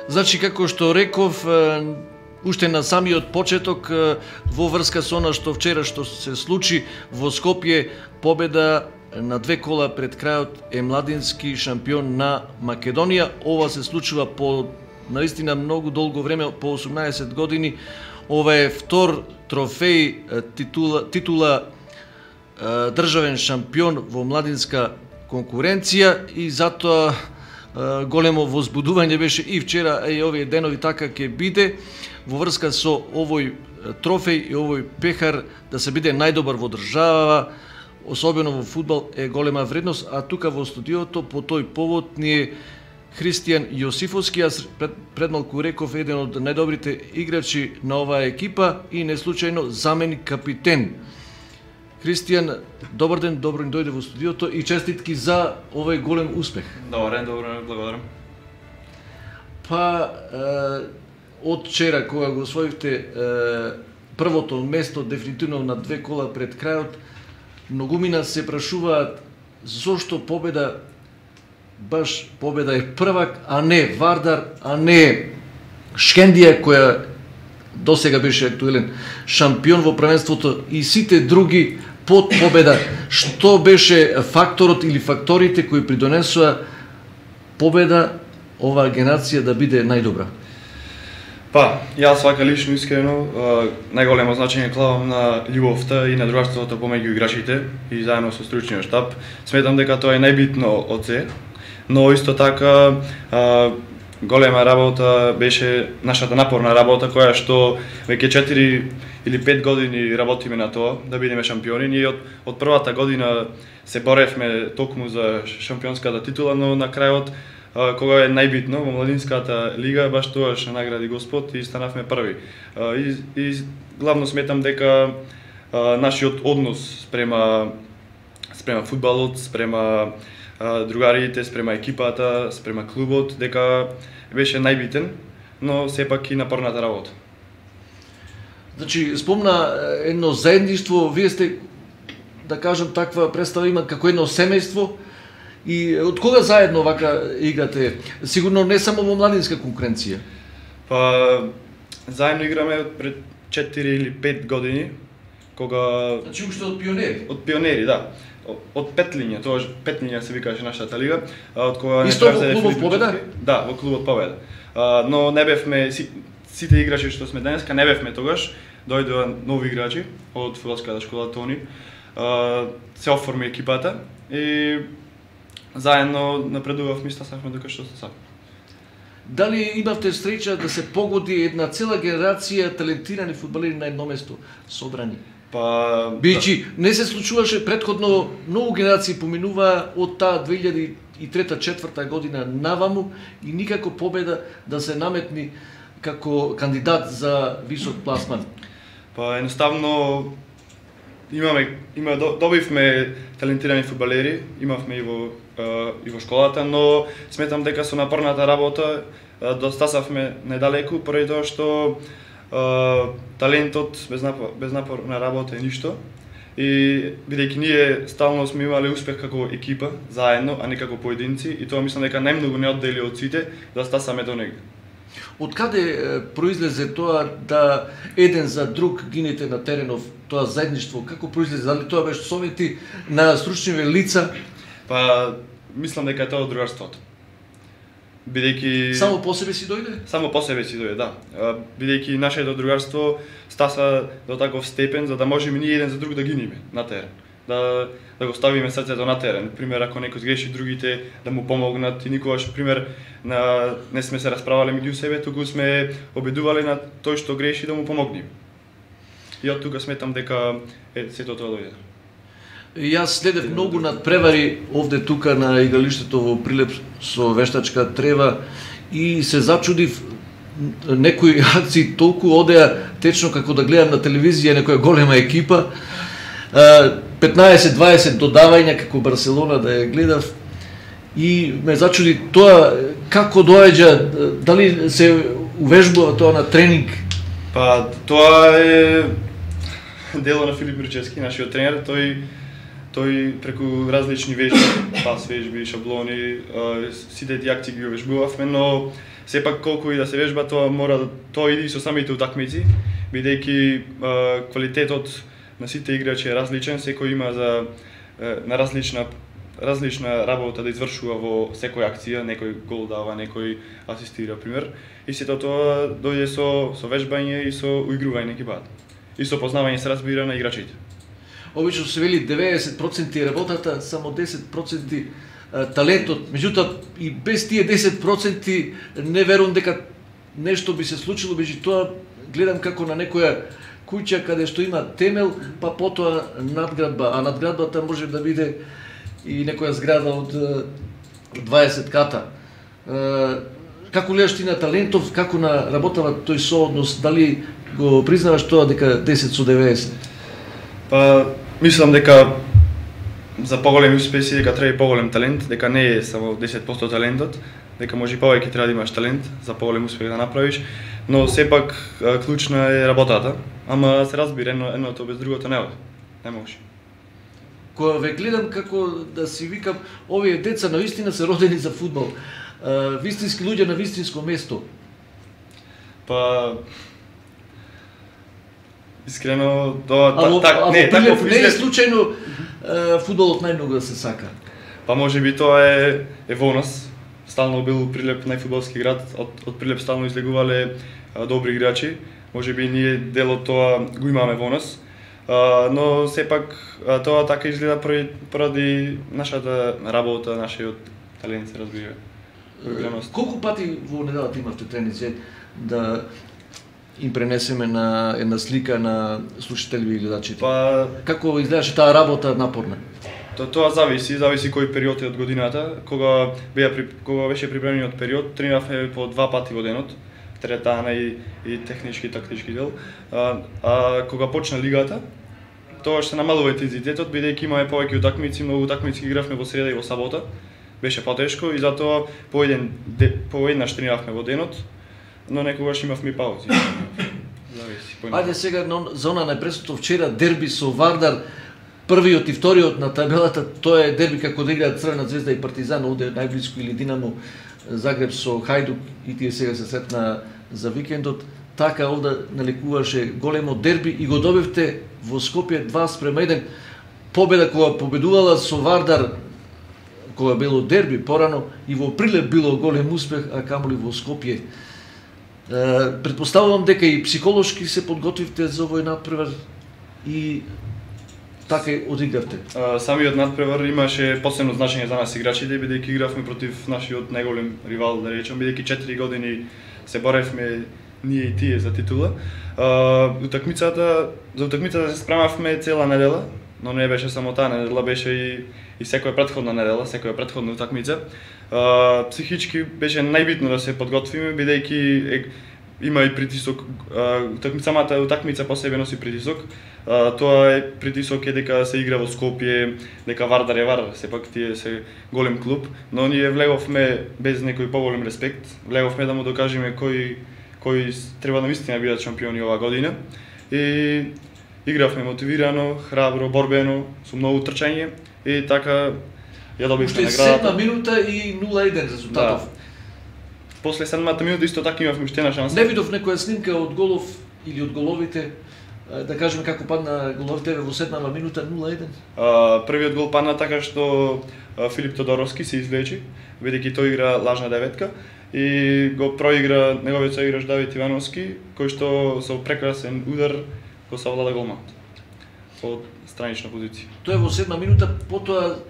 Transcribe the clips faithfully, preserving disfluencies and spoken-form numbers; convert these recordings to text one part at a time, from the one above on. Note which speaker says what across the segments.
Speaker 1: Значи, како што реков, уште на самиот почеток, во врска со она што вчера што се случи во Скопје, победа на две кола пред крајот е младински шампион на Македонија. Ова се случува по наистина многу долго време, по осумнаесет години. Ова е втор трофеј, титула, титула државен шампион во младинска конкуренција и затоа големо возбудување беше и вчера, и овие денови така ќе биде во врска со овој трофеј и овој пехар да се биде најдобар во држава, особено во фудбал е голема вредност, а тука во студиото по тој повод ни е Христијан Јосифовски, јас пред, пред малку реков еден од најдобрите играчи на оваа екипа и неслучајно заменик капитен. Христијан, добар ден, добро ни дојде во студиото и честитки за овој голем успех.
Speaker 2: Добар ден, добро ден, благодарам.
Speaker 1: Па, е, од вчера кога го освоивте е, првото место дефинитивно на две кола пред крајот, многумина се прашуваат зошто победа, баш победа е првак, а не Вардар, а не Шкендија која досега беше актуелен шампион во првенството и сите други под победа. Што беше факторот или факторите кои придонесоа победа оваа генерација да биде најдобра?
Speaker 2: Па, јас вака лично искрено најголемо значење клавам на љубовта и на другарството помеѓу играчите и заедно со стручниот штаб. Сметам дека тоа е најбитно од се, но исто така голема работа беше нашата напорна работа која што веќе четири или пет години работиме на тоа да бидеме шампиони. Ние од, од првата година се боревме токму за шампионската титула, но на крајот кога е најбитно во младинската лига, баш тоаш награди Господ и станавме први. И, и главно сметам дека нашиот однос спрема спрема фудбалот, спрема другарите, спрема екипата, спрема клубот, дека беше најбитен, но сепак и напорната работа.
Speaker 1: Значи, спомна едно заедништво, вие сте, да кажам, таква представа има како едно семејство, и од кога заедно вака играте? Сигурно не само во младинска конкуренција.
Speaker 2: Па, заедно играме пред четири или пет години, кога...
Speaker 1: Значи, уште од пионери?
Speaker 2: Од пионери, да. Од Петлиња, тоа Петлиња се викаше нашата лига, од кога
Speaker 1: исто во клубот Победа?
Speaker 2: Да, во клубот Победа. Но не бевме сите играчи што сме денеска, не бевме тогаш, дојдоа нови играчи од фудбалската школа Тони. Се оформи екипата и заедно напредувавме и стасавме дека што стасавме.
Speaker 1: Дали имавте среќа да се погоди една цела генерација талентирани фудбалери на едно место собрани?
Speaker 2: Па,
Speaker 1: Бијќи, не се случуваше претходно, многу генерации поминуваа од таа две илјади и трета-четврта година наваму и никако Победа да се наметни како кандидат за висок пласман.
Speaker 2: Па едноставно имаме има добивме талентирани фудбалери, имавме и во и во школата, но сметам дека со напорната работа достасавме недалеку поради тоа што Uh, талентот без, напор, без напорна работа е ништо и бидејќи ние стално сме имале успех како екипа заедно, а не како поединци и тоа мислам дека најмногу не оддели од сите да стасаме до негде.
Speaker 1: Од каде произлезе тоа да еден за друг гинете на теренов, тоа заедништво, како произлезе, дали тоа беше совети на стручни лица?
Speaker 2: Па мислам дека е тоа од другарството. Бидејќи
Speaker 1: само по себе си дојде?
Speaker 2: Само по себе си дојде, да. Бидејќи нашето другарство стаса до таков степен за да можеме ние еден за друг да гиниме на терен. Да да го ставиме срцето на терен. Пример, ако некој греши, другите да му помогнат и никогаш пример на не сме се расправале меѓу себе, туку сме обидувале на тој што греши да му помогнеме. И од тука сметам дека е сето тоа дојде.
Speaker 1: Јас следев многу надпревари овде тука на игралиштето во Прилеп со вештачка трева и се зачудив некои акции толку одеа течно како да гледам на телевизија некоја голема екипа. петнаесет-дваесет додавања како Барселона да ја гледав и ме зачуди тоа како доаѓа, дали се увежбува тоа на тренинг?
Speaker 2: Па тоа е дело на Филип Мирчевски, нашиот тренер, тој тој преку различни вежби, пас вежби, шаблони, сите тие акции ги вежбувавме, но сепак колку и да се вежба, тоа мора тоа иди со самите утакмици, бидејќи квалитетот на сите играчи е различен, секој има за на различна различна работа да извршува во секоја акција, некој гол дава, некој асистира, пример. И сето тоа дојде со со вежбање и со уигрување на екипата. И со познавање се разбира на играчите.
Speaker 1: Обично се вели деветдесет проценти работата, само десет проценти талентот. Меѓутоа и без тие десет проценти не верувам дека нешто би се случило, меѓутоа гледам како на некоја куќа каде што има темел, па потоа надградба, а надградбата може да биде и некоја зграда од дваесет ката. Како гледаш ти на талентов, како на работава тој сооднос, дали го признаваш тоа дека десет со деветдесет?
Speaker 2: Па, мислам дека за поголеми успеси дека треба и поголем талент, дека не е само десет проценти талентот, дека може и повеќе треба да имаш талент за поголем успех да направиш, но сепак клучна е работата, ама се разбира, едно, едното без другото не оди. Не може.
Speaker 1: Кога ве гледам како да си викам, овие деца навистина се родени за фудбал. Вистински луѓе на вистинско место.
Speaker 2: Па искрено тоа
Speaker 1: Ало,
Speaker 2: так
Speaker 1: ало,
Speaker 2: не,
Speaker 1: Прилеп,
Speaker 2: таков
Speaker 1: не е
Speaker 2: изглед.
Speaker 1: случајно фудбалот најмногу да се сака.
Speaker 2: Па може би тоа е е во нас. Стално бил Прилеп најфудбалски град, од од Прилеп стално излегувале а, добри играчи. Може би ние дел од тоа го имаме во нас. А, но сепак а, тоа така изгледа поради, поради нашата работа, нашиот талент се разбира.
Speaker 1: Колку пати во неделата имавте тренинзи да им пренесеме на една слика на слушателите и гледачите?
Speaker 2: Па
Speaker 1: Како изгледаше таа работа напорна?
Speaker 2: То, тоа зависи, зависи кој период е од годината. Кога беа кога беше припремниот период, тренавме по два пати во денот, теретана и и технички и тактички дел. А, а кога почна лигата, тоа што намалува интензитетот, бидејќи имаме повеќе утакмици, многу утакмици игравме во среда и во сабота. Беше потешко и затоа по еден по еднаш тренавме во денот, но некогаш имавме паузи. Зависи.
Speaker 1: Ајде сега за она најпресното вчера дерби со Вардар, првиот и вториот на табелата, тоа е дерби како да играат Црвена звезда и Партизан, овде најблиску, или Динамо Загреб со Хајдук, и тие сега се сретна за викендот. Така овде наликуваше големо дерби и го добивте во Скопје два спрема еден. Победа кога победувала со Вардар, кога било дерби порано, и во Прилеп било голем успех, а камоли во Скопје. Предпоставувам дека и психолошки се подготвивте за овој надпревар и така и одигравте.
Speaker 2: Самиот надпревар имаше посебно значење за нас играчите, бидејќи игравме против нашиот најголем ривал, да речем, бидејќи четири години се боревме ние и тие за титула. Утакмицата, за утакмицата се спремавме цела недела, но не беше само таа недела, беше и и секоја претходна недела, секоја претходна утакмица. А, психички беше најбитно да се подготвиме, бидејќи има и притисок, утакмица, самата утакмица по себе носи притисок. А, тоа е притисок е дека се игра во Скопје, дека Вардар е Вардар, сепак тие се голем клуб, но ние влеговме без некој поголем респект, влеговме да му докажеме кој кој треба навистина бидат шампиони оваа година. И игравме мотивирано, храбро, борбено, со многу трчање и така ја добивме наградата.
Speaker 1: Седма минута и нула еден резултатов.
Speaker 2: Да. После седмата минута исто така имавме уште една шанса.
Speaker 1: Не видов некоја снимка од голов или од головите, да кажеме како падна головите во седмава минута нула еден?
Speaker 2: А, првиот гол падна така што Филип Тодоровски се излечи, бидејќи тој игра лажна деветка и го проигра неговиот соиграч Давид Ивановски, кој што со прекрасен удар го совлада голманот од странична позиција.
Speaker 1: Тоа е во седма минута, потоа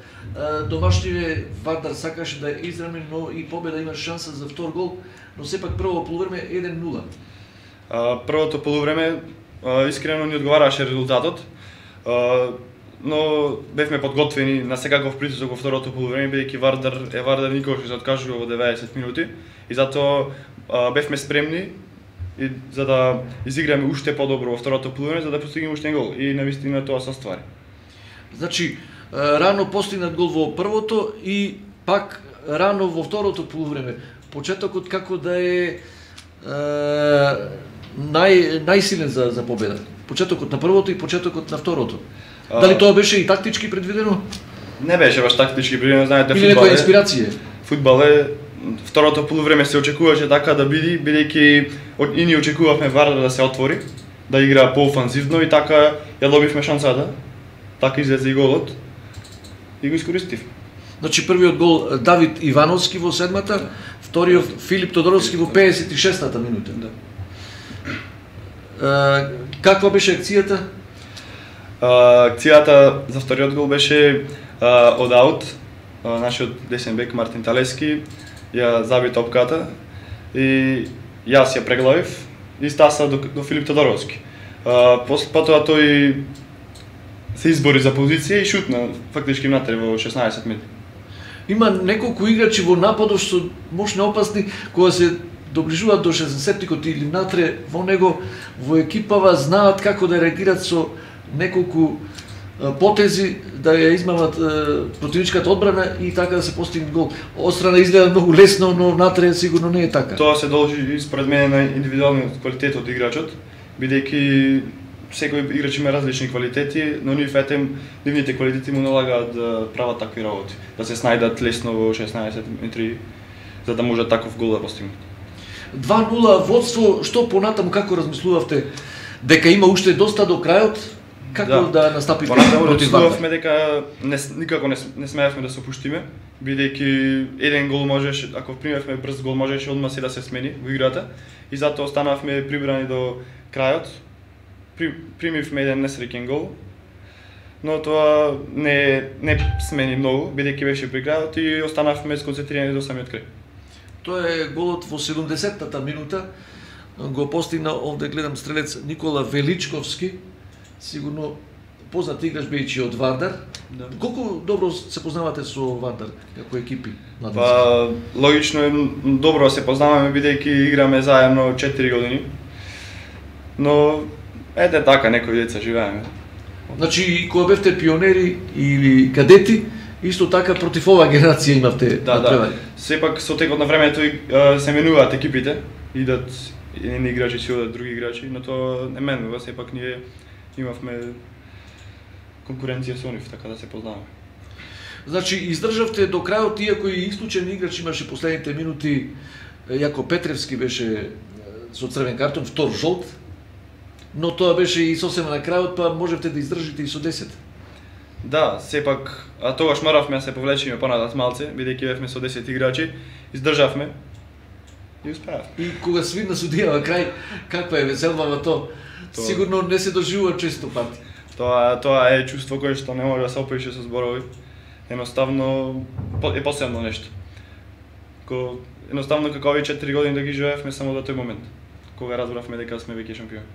Speaker 1: домашниве Вардар сакаше да израми, но и победа има шанса за втор гол, но сепак прво полувреме еден нула.
Speaker 2: А, првото полувреме а, искрено ни одговараше резултатот, а, но бевме подготвени на секаков притисок во второто полувреме, бидејќи Вардар е Вардар, никогаш не се откажува во деветдесет минути и затоа а, бевме спремни и за да изиграме уште подобро во второто полувреме, за да постигнеме уште гол и навистина тоа се оствари.
Speaker 1: Значи, рано постигнат гол во првото и пак рано во второто полувреме. Почетокот како да е, е нај најсилен за за победа. Почетокот на првото и почетокот на второто. А... Дали тоа беше и тактички предвидено?
Speaker 2: Не беше баш тактички предвидено, знаете,
Speaker 1: или некоја инспирација.
Speaker 2: Фудбал е второто полувреме се очекуваше така да биде, бидејќи и ние очекувавме Вардар да се отвори, да игра поофанзивно и така ја добивме шансата. Така излезе и голот и го искористив.
Speaker 1: Значи првиот гол Давид Ивановски во седмата, вториот Филип Тодоровски во педесет и шестата минута.
Speaker 2: Да.
Speaker 1: Uh, каква беше акцијата?
Speaker 2: Uh, акцијата за вториот гол беше uh, од аут. Uh, нашиот десен бек Мартин Талески ја заби топката и јас ја преглавив и стаса до, до Филип Тодоровски. Uh, потоа тој се избори за позиција и шутна фактички внатре во шеснаесет минути.
Speaker 1: Има неколку играчи во нападот што можни опасни кога се доближуваат до шеснаесеттикот или внатре во него, во екипава знаат како да реагираат со неколку потези да ја измамат противничката одбрана и така да се постигне гол. Острана изгледа многу лесно, но внатре сигурно не е така.
Speaker 2: Тоа се должи според мене на индивидуалниот квалитет од играчот, бидејќи секој играч има различни квалитети, но нив етем нивните квалитети му налагаат да прават такви работи, да се снајдат лесно во шеснаесет метри за да можат таков гол да постигнат.
Speaker 1: два нула водство, што понатаму како размислувавте дека има уште доста до крајот? Како да, да настапите против Вардар?
Speaker 2: Размислувавме дека не, никако не, не смеевме да се опуштиме, бидејќи еден гол можеше, ако примевме брз гол можеше одма се да се смени во играта и затоа останавме прибрани до крајот. При, примивме еден несреќен гол, но тоа не не смени многу, бидејќи беше при крајот и останавме сконцентрирани до самиот крај.
Speaker 1: Тоа е голот во седумдесеттата минута, го постигна овде гледам стрелец Никола Величковски, сигурно познат играч бидејќи од Вардар. Да. Колку добро се познавате со Вардар како екипи?
Speaker 2: Па логично е добро се познаваме бидејќи играме заедно четири години. Но ете така некои деца живееме.
Speaker 1: Значи кога бевте пионери или кадети, исто така против оваа генерација имавте
Speaker 2: да, да. Сепак со текот на времето се менуваат екипите, идат едни играчи си одат други играчи, но тоа не менува, сепак ние имавме конкуренција со нив, така да се познаваме.
Speaker 1: Значи издржавте до крајот, иако и исклучен играч имаше последните минути, Јако Петревски беше со црвен картон, втор жолт, но тоа беше и сосема на крајот, па можевте да издржите и со десет.
Speaker 2: Да, сепак, а тогаш моравме да се повлечеме понатат малце, бидејќи бевме со десет играчи, издржавме и успеавме.
Speaker 1: И кога свирна судијава крај, каква е веселбава то? Тоа... Сигурно не се доживува често пати.
Speaker 2: Тоа тоа е чувство кое што не може да се опише со зборови. Едноставно е посебно нешто. Ко едноставно како овие четири години да ги живеевме само до тој момент, кога разбравме дека сме веќе шампиони.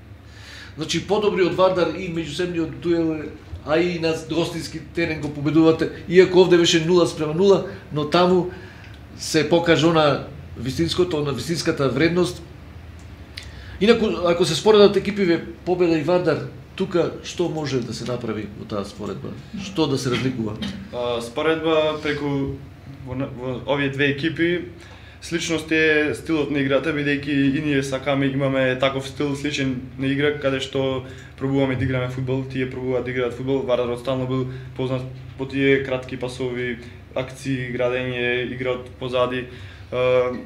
Speaker 1: Значи подобри од Вардар и меѓусебниот дуел, а и на гостински терен го победувате, иако овде беше нула спрема нула, но таму се покажа на вистинското, на вистинската вредност. Инаку, ако се споредат екипиве Победа и Вардар, тука што може да се направи во таа споредба? Што да се разликува?
Speaker 2: А, споредба преку во, во овие две екипи, сличност е стилот на играта, бидејќи и ние сакаме, имаме таков стил сличен на игра, каде што пробуваме да играме фудбал, тие пробуваат да играат фудбал, Вардар стално бил познат по тие кратки пасови, акции, градење, игра од позади.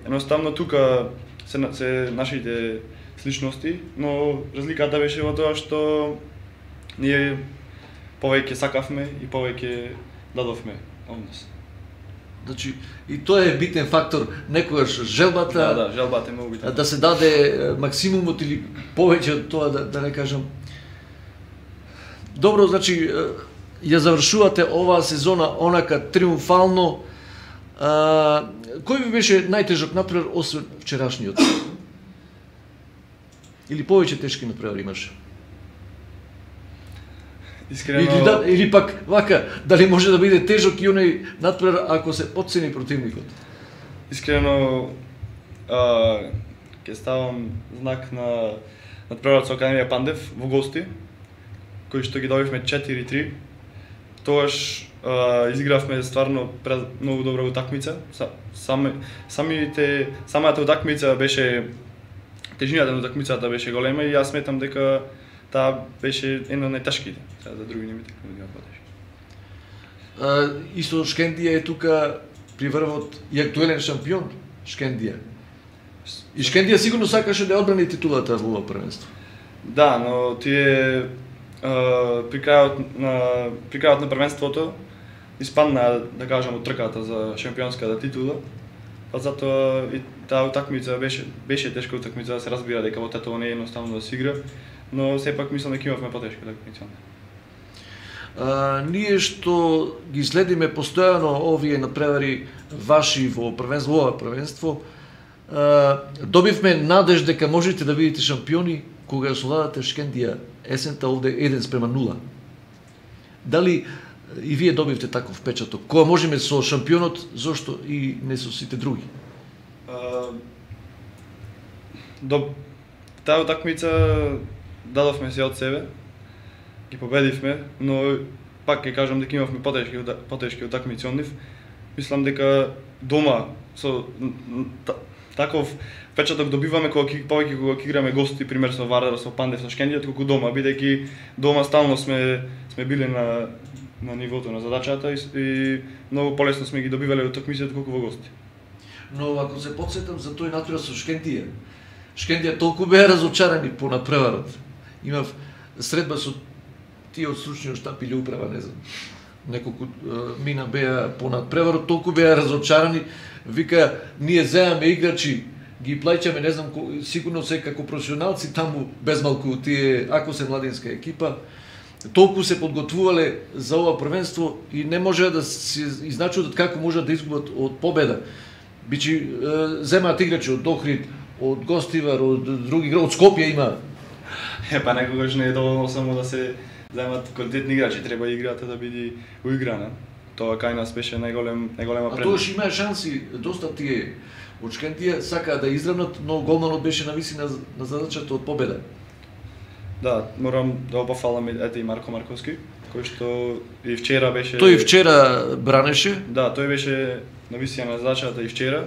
Speaker 2: Едноставно тука се, се нашите сличности, но разликата беше во тоа што ние повеќе сакавме и повеќе дадовме од нас.
Speaker 1: Значи, и тоа е битен фактор, некогаш желбата,
Speaker 2: да, да, желбата е многу битна.
Speaker 1: Да се даде максимумот или повеќе од тоа, да, да не кажам. Добро, значи, ја завршувате оваа сезона онака триумфално. А, кој ви беше најтежок натпревар освен вчерашниот? Или повеќе тешки натпревари имаше?
Speaker 2: Искрено...
Speaker 1: Или, да, или пак, вака, дали може да биде тежок и оној натпревар ако се потцени противникот?
Speaker 2: Искрено, а, ќе ставам знак на натпреварот со Академија Пандев во гости, кои што ги добивме четири три. Тоаш а, изигравме стварно многу добра утакмица. Сами, самите, самата утакмица беше, тежината на утакмицата беше голема и јас сметам дека таа беше една од најтешките. Сега за други не ми текна да ги
Speaker 1: потешки. Исто Шкендија е тука при врвот и актуелен шампион. Шкендија. И Шкендија сигурно сакаше да одбрани титулата во ова првенство.
Speaker 2: Да, но тие при крајот на при крајот на првенството испадна, да кажам, од трката за шампионската титула. Па затоа и таа утакмица беше беше тешка утакмица, да се разбира дека во Тетово не е едноставно да се игра, но сепак мислам дека имавме потешка утакмица.
Speaker 1: А, ние што ги следиме постојано овие надпревари ваши во првенство, во ова првенство, а, добивме надеж дека можете да бидете шампиони кога освојавате Шкендија есента овде еден спрема нула. Дали и вие добивте таков впечаток? Кога можеме со шампионот, зошто и не со сите други?
Speaker 2: Uh, до таа утакмица дадовме се од себе, ги победивме, но пак ќе кажам дека имавме потешки потешки утакмици од нив. Мислам дека дома со таков впечаток добиваме кога повеќе кога ќе играме гости, пример со Вардар, со Пандев, со Шкендија, колку дома, бидејќи дома стално сме сме биле на на нивото на задачата и, и многу полесно сме ги добивале утакмиците колку во гости.
Speaker 1: Но ако се потсетам за тој натура со Шкендија, Шкендија толку беа разочарани по надпреварот. Имав средба со тие од стручниот штаб или управа, не знам. Неколку мина беа по надпреварот, толку беа разочарани. Вика, ние земаме играчи, ги плаќаме, не знам, сигурно се како професионалци таму безмалку тие, ако се младинска екипа, толку се подготвувале за ова првенство и не може да се изначудат како можат да изгубат од победа. Бичи земаат играчи од Охрид, од Гостивар, од други градови, од Скопје има.
Speaker 2: Е, па некогаш не е доволно само да се земат квалитетни играчи, треба играта да биде уиграна. Тоа кај нас беше најголем најголема предност.
Speaker 1: А тоа што имаа шанси, доста тие од Шкендија сакаа да изравнат, но голманот беше нависи на, на задачата од победа.
Speaker 2: Да, морам да опафалам ете и Марко Марковски, кој што и вчера беше...
Speaker 1: Тој и вчера бранеше?
Speaker 2: Да, тој беше нависија на задачата и вчера,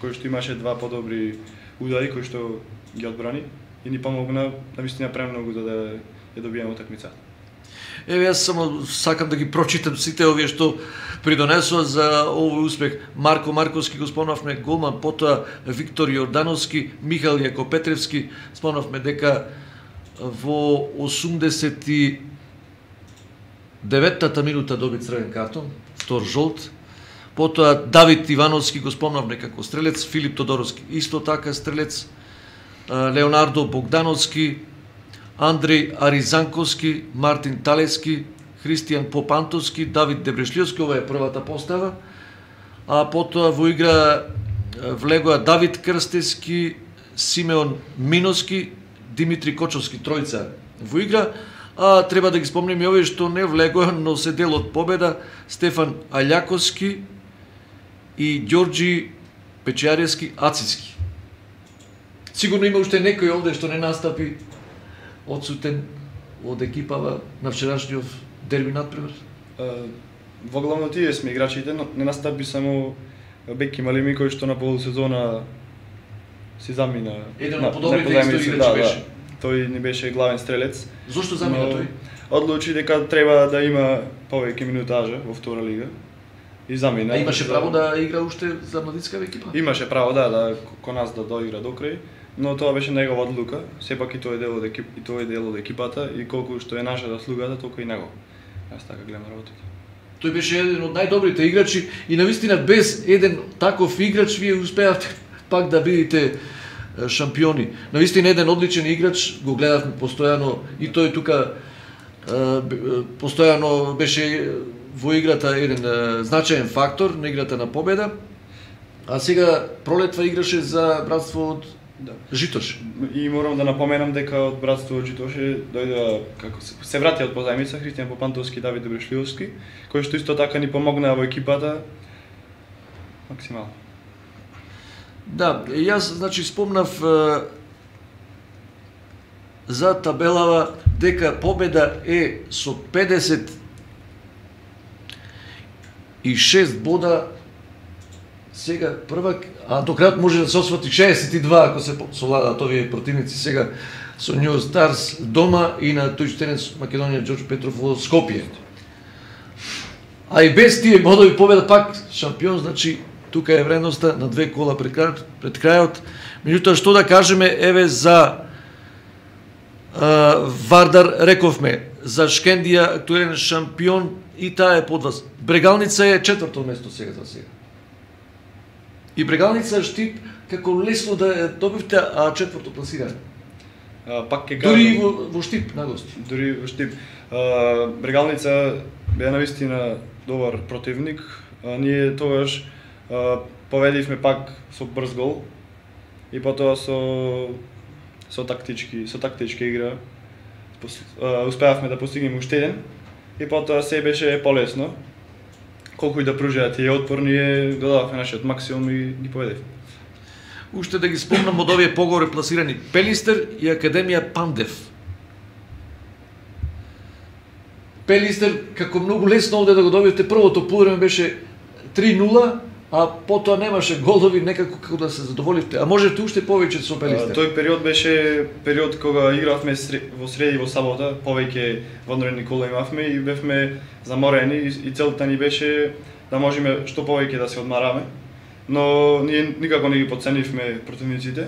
Speaker 2: кој што имаше два подобри удари кои што ги одбрани и ни помогна навистина премногу за да ја добиеме утакмицата.
Speaker 1: Еве, јас само сакам да ги прочитам сите овие што придонесоа за овој успех. Марко Марковски го спомнавме, голман, потоа Виктор Јордановски, Михаил Јакопетревски, спомнавме дека во осумдесет и деветата минута доби црвен картон, втор жолт. Потоа Давид Ивановски го спомнавме како стрелец, Филип Тодоровски исто така стрелец, Леонардо Богдановски, Андреј Аризанковски, Мартин Талески, Христијан Попантовски, Давид Дебрешлиовски, ова е првата постава. А потоа во игра влегоа Давид Крстески, Симеон Миноски, Димитри Кочовски, тројца во игра. А треба да ги спомнеме и овие што не влегоа, но се дел од победа, Стефан Аљаковски и Ѓорџи Печијарески Ациски. Сигурно има уште некој овде што не настапи одсутен од екипава на вчерашниот дерби надпревар.
Speaker 2: Во главно тие сме играчите, но не настапи само Беки Малими кој што на полусезона си замина.
Speaker 1: Еден од подобрите играчи
Speaker 2: да,
Speaker 1: беше.
Speaker 2: Да. Тој не беше главен стрелец.
Speaker 1: Зошто замина тој?
Speaker 2: Одлучи дека треба да има повеќе минутажа во втора лига. И замина.
Speaker 1: А имаше право да игра уште за младинска екипа?
Speaker 2: Имаше право, да, да кон нас да доигра до крај, но тоа беше негова одлука. Сепак и тој е дел од екип, и тој е дел од екипата и колку што е наша заслугата, толку и него. Јас така гледам работата.
Speaker 1: Тој беше еден од најдобрите играчи и навистина без еден таков играч вие успеавте пак да бидете шампиони. Навистина еден одличен играч, го гледавме постојано и тој тука постојано беше во играта еден значаен фактор на играта на победа. А сега пролетва играше за братство од да. Житош.
Speaker 2: И морам да напоменам дека од братство од Житоше дојдоа како се, се врати од позајмица Христијан Попантовски и Давид Добрешлиовски, кои што исто така ни помогнаа во екипата максимално.
Speaker 1: Да, јас значи спомнав е, за табелава дека победа е со педесет и шест бода. Сега првак, а до крајот може да се освати шеесет и два ако се совладат овие противници сега со New Stars дома и на тој тенис Македонија Ѓорџ Петров во Скопје. А и без тие бодови победа пак шампион, значи тука е вредноста на две кола пред крајот. Пред крајот. Меѓутоа, што да кажеме, еве за а, Вардар рековме, за Шкендија актуелен шампион и таа е под вас. Брегалница е четврто место сега за сега. И Брегалница Штип како лесно да ја добивте, а четврто пласиране.
Speaker 2: А, пак ќе
Speaker 1: Дури и
Speaker 2: кажам,
Speaker 1: во, во Штип на гости.
Speaker 2: дури во Штип. А, Брегалница беа навистина добар противник. А, ние тогаш а, победивме пак со брз гол и потоа со со тактички, со тактичка игра. Пос- а, успеавме да постигнеме уште еден и потоа се беше полесно. Колку и да пружеа тие отпор, ние додававме нашиот максимум и ги победивме.
Speaker 1: Уште да ги спомнам од овие погоре пласирани Пелистер и Академија Пандев. Пелистер, како многу лесно овде да го добиете, првото полувреме беше три нула, а потоа немаше голови, некако како да се задоволивте. А можете уште повеќе со
Speaker 2: А,
Speaker 1: Пелистер.
Speaker 2: тој период беше период кога игравме сре- во среди и во сабота, повеќе вонредни кола имавме и бевме заморени и, и целта ни беше да можеме што повеќе да се одмараме. Но ние никако не ги подценивме противниците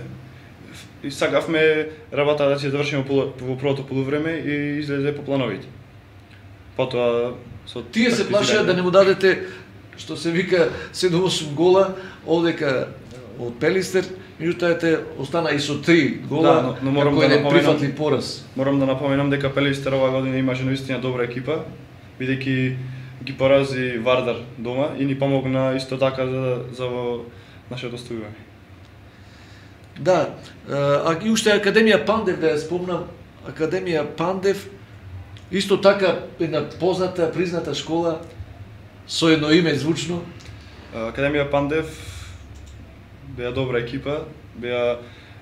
Speaker 2: и сакавме работа да се завршиме полу- во првото полувреме и излезе по плановите. Потоа со
Speaker 1: Тие се плашеа да не му дадете, што се вика седум-осум гола, одека од Пелистер, меѓутоа ете остана и со три гола,
Speaker 2: Да, но- но морам
Speaker 1: како
Speaker 2: да
Speaker 1: еден
Speaker 2: напоменам-
Speaker 1: прифатли пораз.
Speaker 2: Морам да напоменам дека Пелистер оваа година имаше наистина добра екипа, бидејќи ги порази Вардар дома и ни помогна исто така за за во нашето оставување.
Speaker 1: Да, а и уште Академија Пандев, да ја спомнам, Академија Пандев, исто така една позната, призната школа, со едно име звучно.
Speaker 2: Академија Пандев беа добра екипа, беа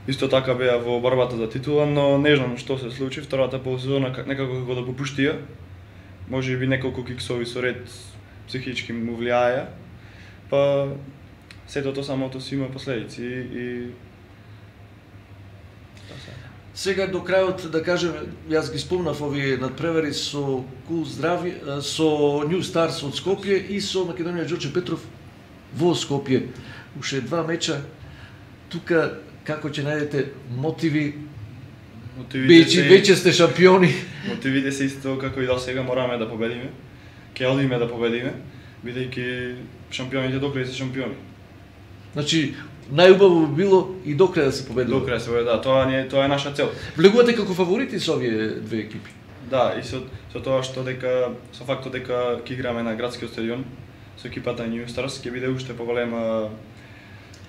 Speaker 2: исто така беа во борбата за титула, но не знам што се случи, втората полусезона как- некако како да попуштија. Може би неколку киксови со ред психички му влијаја, па сето тоа самото си има последици и
Speaker 1: Сега до крајот да кажем, јас ги спомнав овие надпревари со Кул Здрави, а, со Нью Старс од Скопје и со Македонија Ѓорче Петров во Скопје. Уште два меча. Тука како ќе најдете мотиви,
Speaker 2: мотивите
Speaker 1: веќе
Speaker 2: се,
Speaker 1: веќе сте шампиони.
Speaker 2: мотивите се исто како и до сега, мораме да победиме. Ќе одиме да победиме, бидејќи шампионите докрај се шампиони.
Speaker 1: Значи, најубаво би било и до крај да се победува.
Speaker 2: Докрај се да, тоа не е- тоа е наша цел.
Speaker 1: Влегувате како фаворити со овие две екипи.
Speaker 2: Да, и со со тоа што дека со фактот дека ќе играме на градскиот стадион со екипата на New Stars ќе биде уште поголема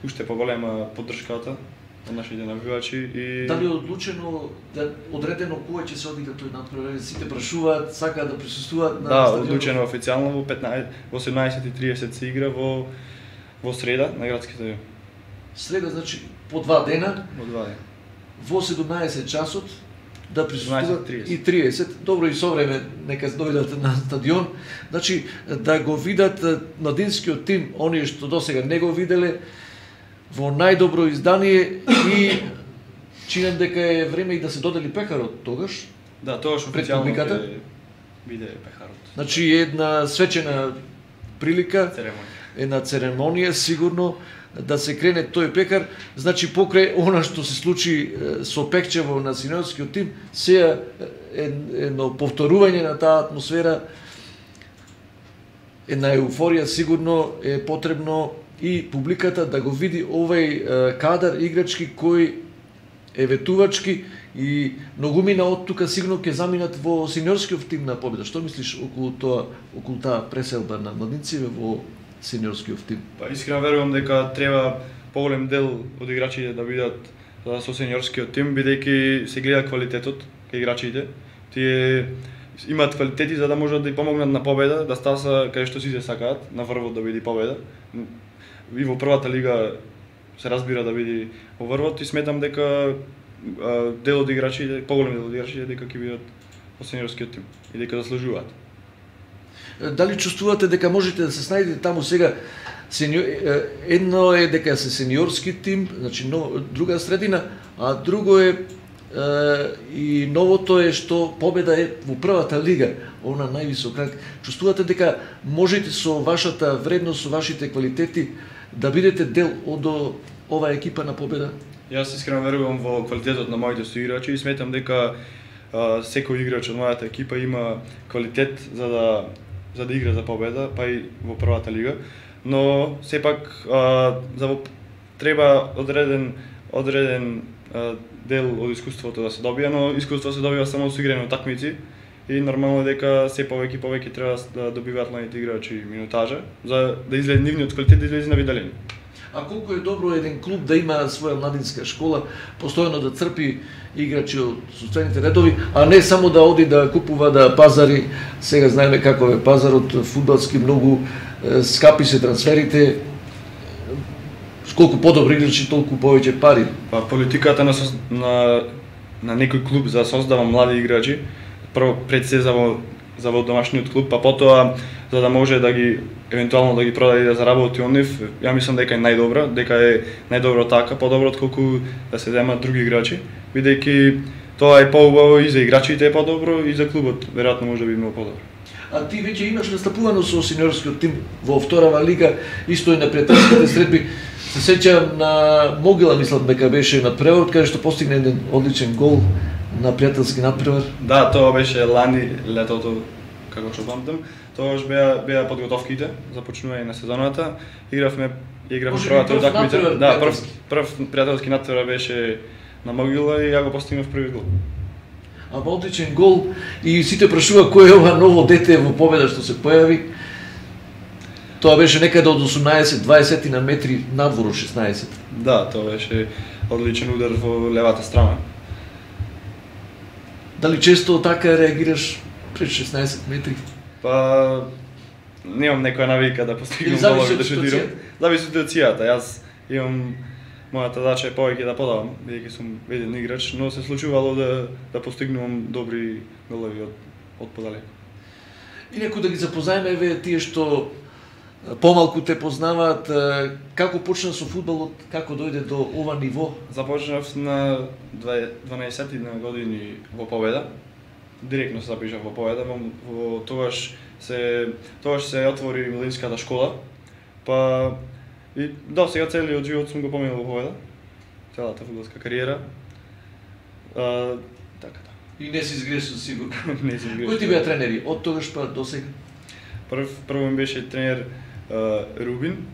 Speaker 2: уште поголема поддршката од нашите навивачи и
Speaker 1: Дали е одлучено, да одредено кога ќе се одигра тој надпревар? Сите прашуваат, сакаат да присуствуваат на
Speaker 2: да,
Speaker 1: стадионот?
Speaker 2: одлучено официјално во петнаесет во седнаесет и тридесет се игра во во среда на градски стадион.
Speaker 1: Среда, значи, по два дена,
Speaker 2: Во два дена.
Speaker 1: во седумнаесет часот, да присуствуваат
Speaker 2: седумнаесет и тридесет.
Speaker 1: и тридесет. Добро и со време, нека дојдат на стадион. Значи, да го видат е, младинскиот тим, оние што досега не го виделе, во најдобро издание и чинам дека е време и да се додели пекарот тогаш.
Speaker 2: Да, тоа што
Speaker 1: Пред
Speaker 2: официјално
Speaker 1: публиката?
Speaker 2: ќе биде пехарот.
Speaker 1: Значи, една свечена прилика,
Speaker 2: Церемонија.
Speaker 1: една церемонија сигурно да се крене тој пекар. Значи покрај она што се случи е, со Пекчево на синьорскиот тим, сега е, едно повторување на таа атмосфера, една еуфорија сигурно е потребно и публиката да го види овој е, кадар играчки кој е ветувачки и многумина од тука сигурно ќе заминат во синьорскиот тим на Победа. Што мислиш околу тоа, околу таа преселба на младинци во синьорскиот тим?
Speaker 2: Па искрено верувам дека треба поголем дел од играчите да бидат да, со сениорскиот тим, бидејќи се гледа квалитетот кај играчите. Тие имаат квалитети за да можат да ја помогнат на победа, да стаса кај што сите сакаат, на врвот да биде победа. И во првата лига се разбира да биде во врвот и сметам дека а, дел од играчите, поголем дел од играчите дека ќе бидат во сениорскиот тим и дека заслужуваат.
Speaker 1: Дали чувствувате дека можете да се снајдете таму сега? Сениор, едно е дека се сениорски тим, значи но, друга средина, а друго е и новото е што победа е во првата лига, она највисок ранг. Чувствувате дека можете со вашата вредност, со вашите квалитети да бидете дел од оваа екипа на победа?
Speaker 2: Јас искрено верувам во квалитетот на моите соиграчи и сметам дека а, секој играч од мојата екипа има квалитет за да за да игра за победа, па и во првата лига, но сепак а, за треба одреден одреден а, дел од искуството да се добија, но искуство се добива само со играње на такмици и нормално дека се повеќе и повеќе треба да добиваат младите играчи минутажа за да излезе нивниот квалитет да излезе на виделини.
Speaker 1: А колку е добро еден клуб да има своја младинска школа, постојано да црпи играчи од состојните редови, а не само да оди да купува, да пазари. Сега знаеме каков е пазарот фудбалски, многу скапи се трансферите. Колку подобри играчи, толку повеќе пари.
Speaker 2: Па политиката на на на некој клуб за да создава млади играчи, прво пред се за во за во домашниот клуб, па потоа за да може да ги евентуално да ги продаде и да заработи од нив, ја мислам дека е најдобра, дека е најдобро така, подобро отколку да се земат други играчи, бидејќи тоа е поубаво и за играчите е подобро и за клубот, веројатно може да биде многу подобро.
Speaker 1: А ти веќе имаш настапувано со сениорскиот тим во вторава лига, исто и на пријателските средби. Се сеќавам на Могила, мислам дека беше надпревар, каде што постигна еден одличен гол на пријателски надпревар.
Speaker 2: Да, тоа беше лани летото, како што памтам. Тоа беа беа подготовките за почнување на сезоната. Игравме игравме првата утакмица. Да, прв прв пријателски надпревар беше на Могила и ја го постигнав први гол.
Speaker 1: А одличен гол и сите прашува кој е ова ново дете во победа што се појави. Тоа беше некаде од осумнаесет дваесет на метри надвор од шеснаесет.
Speaker 2: Да, тоа беше одличен удар во левата страна.
Speaker 1: Дали често така реагираш пред шеснаесет метри?
Speaker 2: Па немам некоја навика да постигнам голови да шутирам. Зависи од ситуацијата. Јас имам мојата задача е повеќе да подавам, бидејќи сум еден играч, но се случувало да да постигнувам добри голови од од подалеку.
Speaker 1: И некој да ги запознаеме еве тие што помалку те познаваат, како почна со фудбалот, како дојде до ова ниво?
Speaker 2: Започнав на дванаесет години во Победа. Директно се запишав во Победа, во, во тогаш се тогаш се отвори младинската школа. Па и до сега целиот живот сум го поминал во Победа. Целата фудбалска кариера. А, така да.
Speaker 1: И не си изгрешил сигурно.
Speaker 2: Не си изгрешил.
Speaker 1: Кои ти беа тренери од тогаш па до сега?
Speaker 2: Прв прво ми беше тренер uh, Рубин,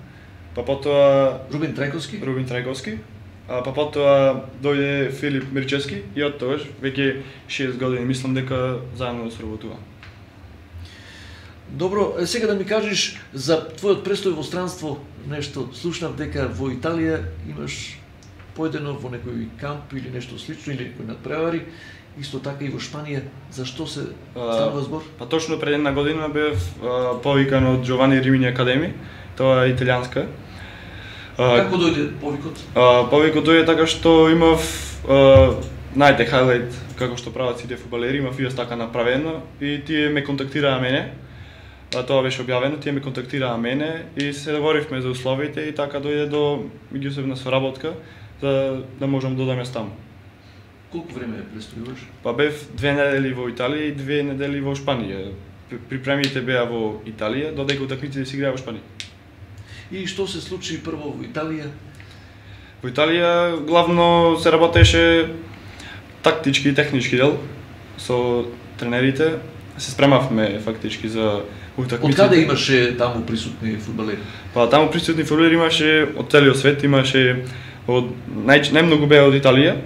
Speaker 2: па потоа
Speaker 1: Рубин Трајковски.
Speaker 2: Рубин Трајковски. А па потоа дојде Филип Мирчевски и од тогаш веќе шест години мислам дека заедно сработува.
Speaker 1: Добро, сега да ми кажеш за твојот престој во странство, нешто слушнав дека во Италија имаш поедено во некој камп или нешто слично или некој надпревари, исто така и во Шпанија. Зашто се станува збор?
Speaker 2: Па точно пред една година бев повикан од Джовани Римини Академи, тоа е италијанска.
Speaker 1: Како дојде повикот?
Speaker 2: А, повикот дојде така што имав а, најте хайлайт како што прават сите фудбалери, имав и јас така направено и тие ме контактираа мене. А, тоа беше објавено, тие ме контактираа мене и се договоривме за условите и така дојде до меѓусебна соработка за да можам да одам јас таму.
Speaker 1: Колку време престојуваш?
Speaker 2: Па бев две недели во Италија и две недели во Шпанија. Припремите беа во Италија, додека утакмиците се играа во Шпанија.
Speaker 1: И што се случи прво во Италија?
Speaker 2: Во Италија главно се работеше тактички и технички дел со тренерите. Се спремавме фактички за утакмиците.
Speaker 1: Од каде имаше таму присутни фудбалери?
Speaker 2: Па таму присутни фудбалери имаше од целиот свет, имаше од нај најмногу беа од Италија.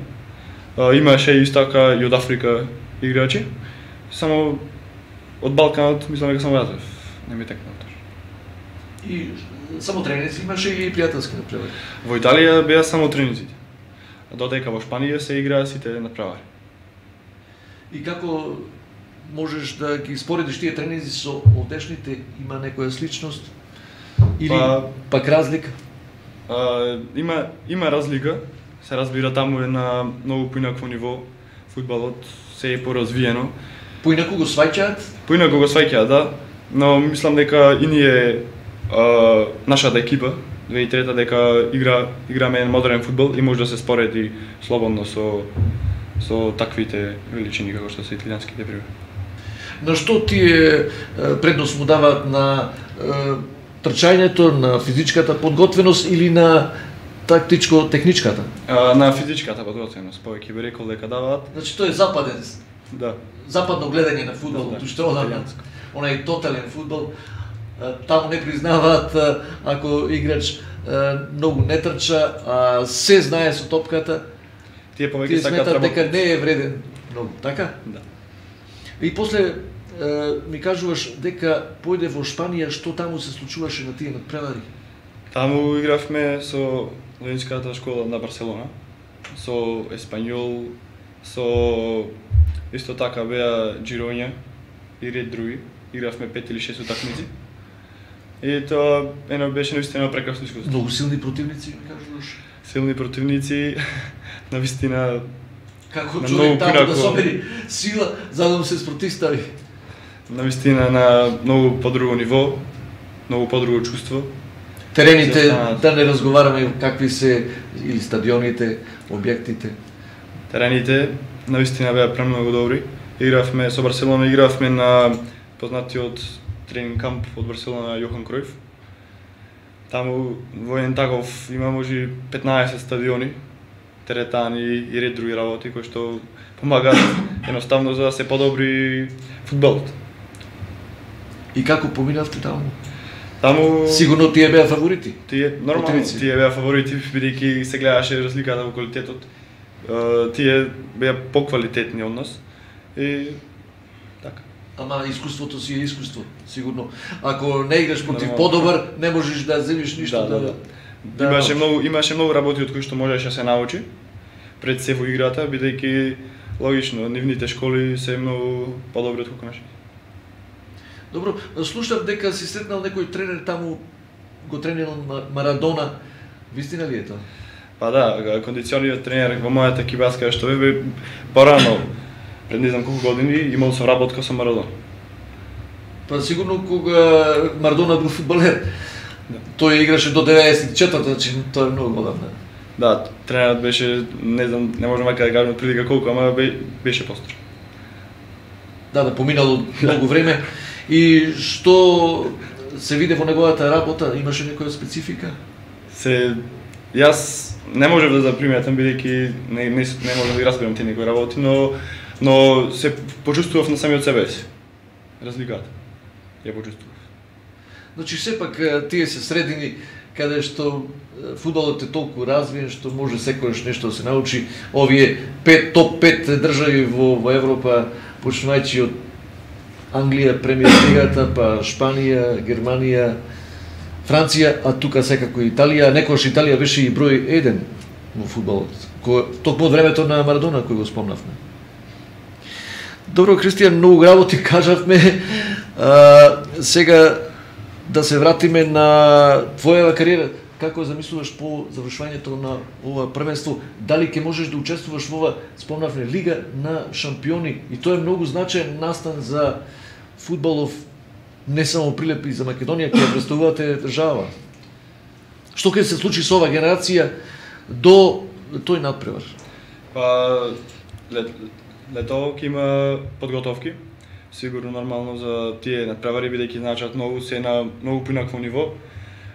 Speaker 2: Uh, имаше исто така и од Африка играчи. Само од Балканот мислам дека само јас не ми текнал тоа.
Speaker 1: И само тренинзи имаше и пријателски надпревари?
Speaker 2: Во Италија беа само тренинзите. Додека во Шпанија се играа сите надпревари.
Speaker 1: И како можеш да ги споредиш тие тренинзи со овдешните? Има некоја сличност или па, пак разлика?
Speaker 2: А, има има разлика. Се разбира таму е на многу поинако ниво, фудбалот се е поразвиено.
Speaker 1: Поинако го сваќаат?
Speaker 2: Поинако го сваќаат, да, но мислам дека и ние а, нашата екипа две и трета дека игра играме еден модерен фудбал и може да се спореди слободно со со таквите величини како што се италијанските приви.
Speaker 1: На што тие предност му даваат, на трчањето, на физичката подготвеност или на тактичко-техничката?
Speaker 2: На физичката подготвеност, повеќе би рекол дека даваат.
Speaker 1: Значи тој е западен.
Speaker 2: Да.
Speaker 1: Западно гледање на фудбал,
Speaker 2: да,
Speaker 1: што одам, онај тотален фудбал, таму не признаваат ако играч многу не трча, а се знае со топката.
Speaker 2: Тие повеќе сакаат
Speaker 1: работат дека не е вреден многу, така?
Speaker 2: Да.
Speaker 1: И после ми кажуваш дека појде во Шпанија, што таму се случуваше на тие надпревари?
Speaker 2: Таму игравме со воинската школа на Барселона, со Еспањол, со исто така беа Джироња и ред други. Игравме пет или шест утакмици. И тоа едно беше наистина прекрасно искуство.
Speaker 1: Многу силни противници, ми кажуваш?
Speaker 2: Силни противници, навистина.
Speaker 1: Како човек таму да собери сила за да му се спротивстави?
Speaker 2: Навистина на многу подруго ниво, многу подруго чувство.
Speaker 1: Терените, да не разговараме какви се или стадионите, објектите.
Speaker 2: Терените навистина беа премногу добри. Игравме со Барселона, игравме на познатиот тренинг камп од Барселона Јохан Кројф. Таму во еден таков има може петнаесет стадиони, теретани и ред други работи кои што помагаат едноставно за да се подобри фудбалот.
Speaker 1: И како поминавте таму?
Speaker 2: Таму
Speaker 1: сигурно тие беа фаворити.
Speaker 2: Тие нормално тие беа фаворити бидејќи се гледаше разликата во квалитетот. Тие беа поквалитетни од нас и така.
Speaker 1: Ама искуството си е искуство, сигурно. Ако не играш против подобар, не можеш да земиш ништо да, да, да.
Speaker 2: да имаше многу имаше многу работи од кои што можеше да се научи пред се во играта, бидејќи логично нивните школи се многу подобри од колку нашите.
Speaker 1: Добро, слушав дека си сретнал некој тренер таму, го тренирал Марадона. Вистина ли е тоа?
Speaker 2: Па да, кондициониот тренер во мојата екипа што бе порано, пред не знам колку години, имал сум работка со Марадона.
Speaker 1: Па сигурно кога Марадона бил фудбалер. Да. Тој играше до деветдесет и четврта, значи тоа е многу одамна.
Speaker 2: Да, тренерот беше, не знам, не можам да кажам прилика колку, ама беше постар.
Speaker 1: Да, да, поминало многу време. И што се виде во неговата работа, имаше некоја специфика?
Speaker 2: Се јас не можев да заприметам бидејќи не не не можам да ги разберам тие некои работи, но но се почувствував на самиот себе си. Разликата. Ја почувствував.
Speaker 1: Значи сепак тие се средини каде што фудбалот е толку развиен што може секојаш нешто да се научи. Овие пет топ пет држави во во Европа, почнувајќи од Англија, премиер лигата, па Шпанија, Германија, Франција, а тука секако Италија. Некојаш Италија беше и број еден во фудбалот. Токму од времето на Марадона кој го спомнавме. Добро, Кристијан, многу работи кажавме. А, сега да се вратиме на твојава кариера. Како замислуваш по завршувањето на ова првенство? Дали ќе можеш да учествуваш во ова, спомнавме, Лига на шампиони? И тоа е многу значаен настан за фудбалов, не само Прилеп и за Македонија, ќе представувате држава. Што ќе се случи со ова генерација до тој надпревар?
Speaker 2: Па лет, лето ќе има подготовки. Сигурно нормално за тие надпревари бидејќи значат многу се на многу поинакво ниво.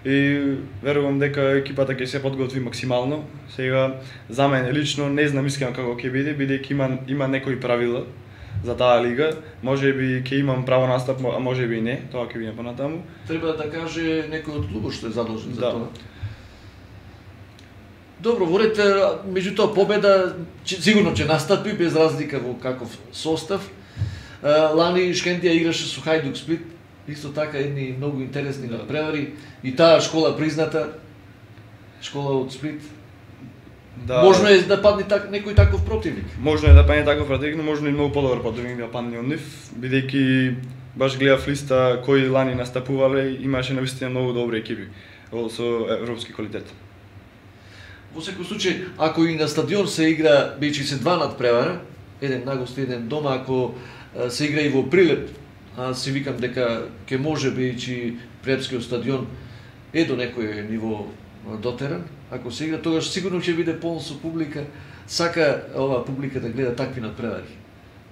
Speaker 2: И верувам дека екипата ќе се подготви максимално. Сега за мене лично не знам искрено како ќе биде, бидејќи има има некои правила за таа лига. Можеби ќе имам право настап, а можеби и не, тоа ќе видиме понатаму.
Speaker 1: Треба да каже некој од клубот што е задолжен за
Speaker 2: да.
Speaker 1: тоа. Добро, ворете, меѓутоа победа сигурно ќе настапи без разлика во каков состав. Лани Шкендија играше со Хајдук Сплит. Исто така едни многу интересни да. надпревари и таа школа призната, школа од Сплит. Да. Можно е да падне так, некој таков противник.
Speaker 2: Можно е да падне таков противник, но можно и многу подобар противник да падне од нив, бидејќи баш гледав листа кои лани настапувале, имаше навистина многу добри екипи со европски квалитет.
Speaker 1: Во секој случај, ако и на стадион се игра бејќи се два надпревара, еден на гости, еден дома, ако се игра и во Прилеп, а си викам дека ќе може, бидејќи Прилепскиот стадион е до некој ниво дотеран. Ако се игра, тогаш сигурно ќе биде полн со публика. Сака оваа публика да гледа такви надпревари.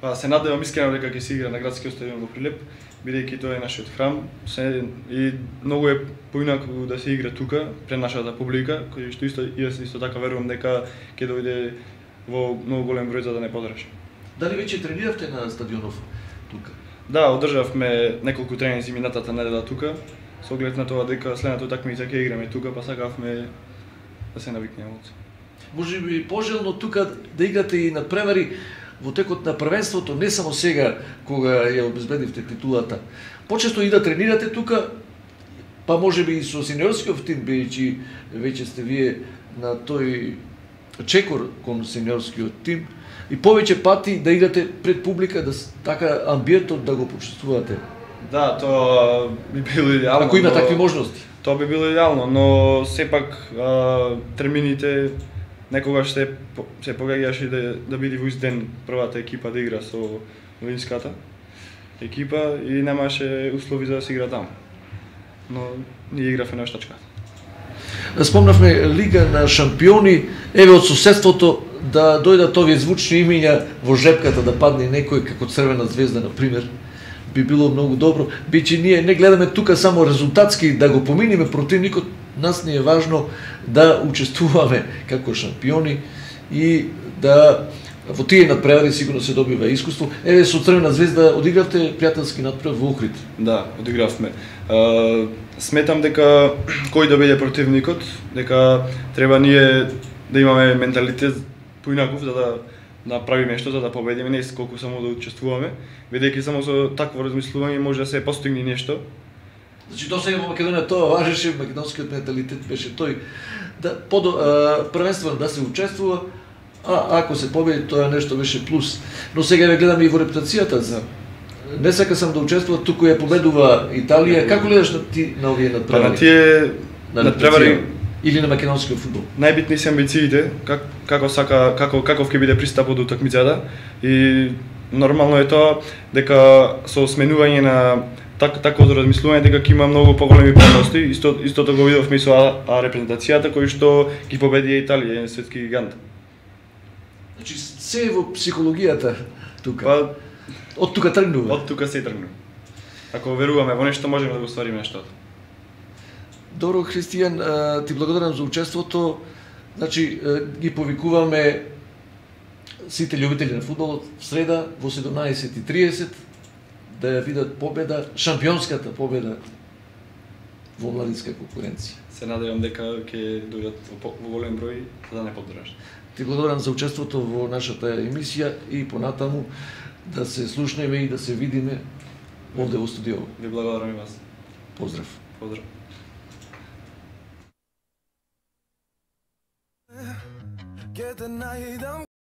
Speaker 2: Па се надевам искрено дека ќе се игра на градскиот стадион во Прилеп, бидејќи тоа е нашиот храм. Се, и многу е поинаку да се игра тука пред нашата публика, кој што исто јас исто така верувам дека ќе дојде во многу голем број за да не подржи.
Speaker 1: Дали веќе трениравте на стадионов тука?
Speaker 2: Да, одржавме неколку тренинзи минатата недела тука, со оглед на тоа дека следната такмица ќе играме тука, па сакавме да се навикнеме од се.
Speaker 1: Може би пожелно тука да играте и надпревари во текот на првенството, не само сега кога ја обезбедивте титулата. Почесто и да тренирате тука, па може би и со сениорскиот тим, бидејќи веќе сте вие на тој чекор кон сениорскиот тим, и повеќе пати да играте пред публика, да така амбиентот да го почувствувате.
Speaker 2: Да, тоа би било идеално.
Speaker 1: Ако има
Speaker 2: но...
Speaker 1: такви можности.
Speaker 2: Тоа би било идеално, но сепак а, термините некогаш се се погаѓаше да да биде во ист ден првата екипа да игра со Винската екипа и немаше услови за да се игра таму. Но ние игравме на штачка.
Speaker 1: Спомнавме Лига на шампиони, еве од соседството да дојдат овие звучни имиња во жепката да падне некој како Црвена звезда на пример. Би било многу добро, бидејќи ние не гледаме тука само резултатски да го поминиме противникот, нас не е важно да учествуваме како шампиони и да во тие надпревари сигурно се добива искуство. Еве со Црвена звезда одигравте пријателски надпревар во Охрид.
Speaker 2: Да, одигравме. Uh, сметам дека кој да биде противникот, дека треба ние да имаме менталитет поинаков за да направиме што за да победиме, не колку само да учествуваме, бидејќи само со такво размислување може да се постигне нешто.
Speaker 1: Значи до сега во Македонија тоа важеше, македонскиот менталитет беше тој да под првенствено да се учествува, а ако се победи тоа нешто беше плюс. Но сега ве гледаме и во репутацијата за не сака сам да учествува, туку ја победува Италија. Како гледаш на ти на овие надпревари?
Speaker 2: Па на тие надпревари
Speaker 1: или на македонскиот фудбал?
Speaker 2: Најбитни се амбициите, как, како сака, како каков ќе биде пристапот до такмицата и нормално е тоа дека со сменување на так такво размислување дека ќе има многу поголеми предности, исто истото го видовме и со а, а репрезентацијата кој што ги победи Италија, еден светски гигант.
Speaker 1: Значи се е во психологијата тука.
Speaker 2: Па
Speaker 1: од тука тргнува.
Speaker 2: Од тука се тргнува. Ако веруваме во нешто можеме да го оствариме нештото.
Speaker 1: Добро, Христијан, ти благодарам за учеството. Значи, ги повикуваме сите љубители на фудбалот в среда во седумнаесет и триесет да ја видат победа, шампионската победа во младинска конкуренција.
Speaker 2: Се надевам дека ќе дојдат во голем број за да не поддржат.
Speaker 1: Ти благодарам за учеството во нашата емисија и понатаму да се слушнеме и да се видиме овде во студио.
Speaker 2: Ви благодарам и вас.
Speaker 1: Поздрав.
Speaker 2: Поздрав. Get the night